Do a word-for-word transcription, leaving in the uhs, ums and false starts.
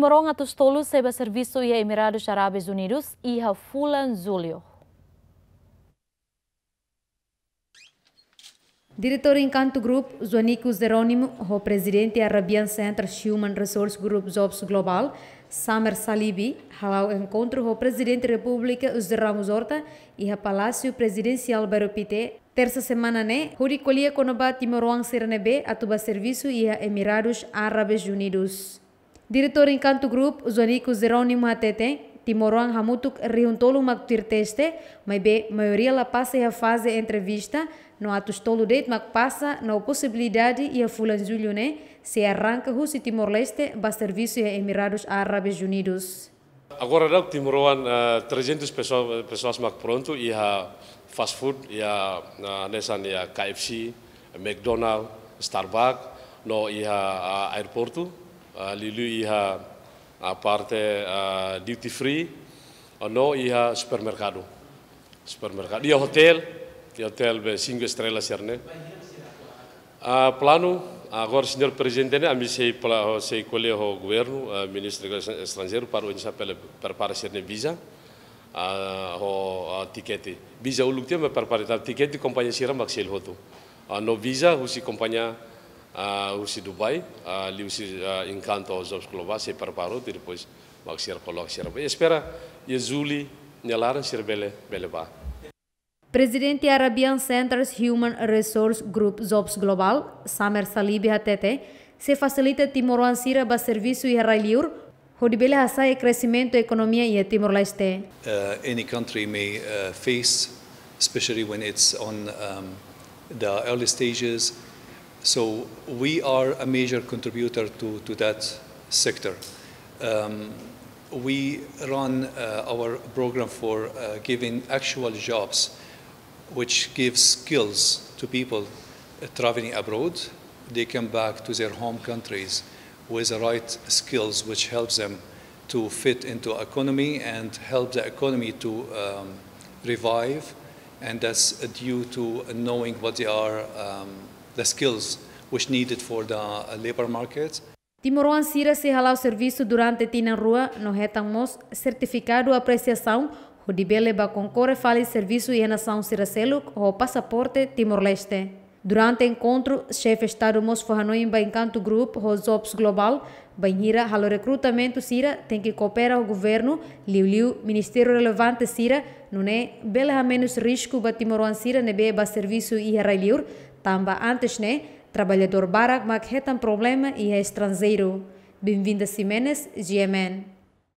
Timoroan atus tolu sei ba servisu iha Emiradus Árabes Unidus iha fulan Jullu. Diretór Encanto Group, Joanico Jerónimo, ho Prezidente Arabian Centers Human Resource Group Jobs Global, Samer Salibi, hala'o enkontru ho Prezidente Repúblika José Ramos Horta iha Palásiu Prezidensiál Bairru Pité, tersa semana ne'e, hodi ko'alia kona-ba timoroan sira ne'ebé atu ba servisu iha Emiradus Árabes Unidus. Diretór Encanto Group, Joanico Jerónimo hateten, timoroan hamutuk rihun tolu mak tuir teste, maibé maioria la pasa iha faze entrevista, no atus tolu de'it mak pasa, no posibilidade iha fulan Jullu ne'e sei arranka husi Timor-Leste ba servisu iha Emiradus Árabes Unidus. Agora daudaun timoroan, eh, trezentas pessoa-, pessoas mak prontu iha fast food, iha, eh, hanesan iha K F C, McDonald, Starbucks, no iha, ah, aeroportu, ah, liuliu iha, ah, parte, ah, duty free, ah, no iha supermerkadu. Supermerkadu. Iha hotel, iha hotel be cinco estrelas sira-ne'e. Ah, planu, agora señór Prezidente ne'e, ami sei pla-, sei ko'alia ho governu, ah, Ministru Negósius Estranjeirus, para oinsá bele prepara sira-nia viza, ah, ho, ah, tikete. Viza uluk tiha mak prepara, tapi tikete kompañia sira mak selu hotu. Ah, no viza husi kompañia, ah, husi Dubai, ah, liuhusi, ah, Encanto Jobs Global sei prepara hotu, depois mak sira koloka sira. Espera iha Jullu nia laran sira bele, bele ba. Prezidente Arabian Centers Human Resource Group Jobs Global, Samer Salibi hateten, sei fasilita timoroan sira ba servisu iha rai-liur, hodi bele hasa'e kresimentu ekonomia iha Timor-Leste. Uh, any country may, uh, face, especially when it's on, um, the early stages. So we are a major contributor to, to that sector. Um, we run, uh, our program for, uh, giving actual jobs, which gives skills to people, uh, traveling abroad. They come back to their home countries with the right skills, which helps them to fit into economy and help the economy to, um, revive. And that's due to knowing what they are, um, the skills which needed for the, uh, labor market. Timoroan sira sei hala'o servisu durante tinan rua no hetan mós sertifikadu apresiasaun hodi bele ba konkorre fali servisu iha nasaun sira seluk ho pasaporte Timor-Leste. Durante enkontru, Xefe Estadu mós fó hanoin ba Encanto Group ho Jobs Global, bainhira halo rekrutamentu sira tenke koopera ho governu, liuliu ministériu relevante sira, nune'e bele hamenus risku ba timoroan sira ne'ebé ba servisu iha rai-liur, tanba antes ne'e traballadór barak mak hetan problema iha estranjeiru. Benvinda Ximenes, G M N.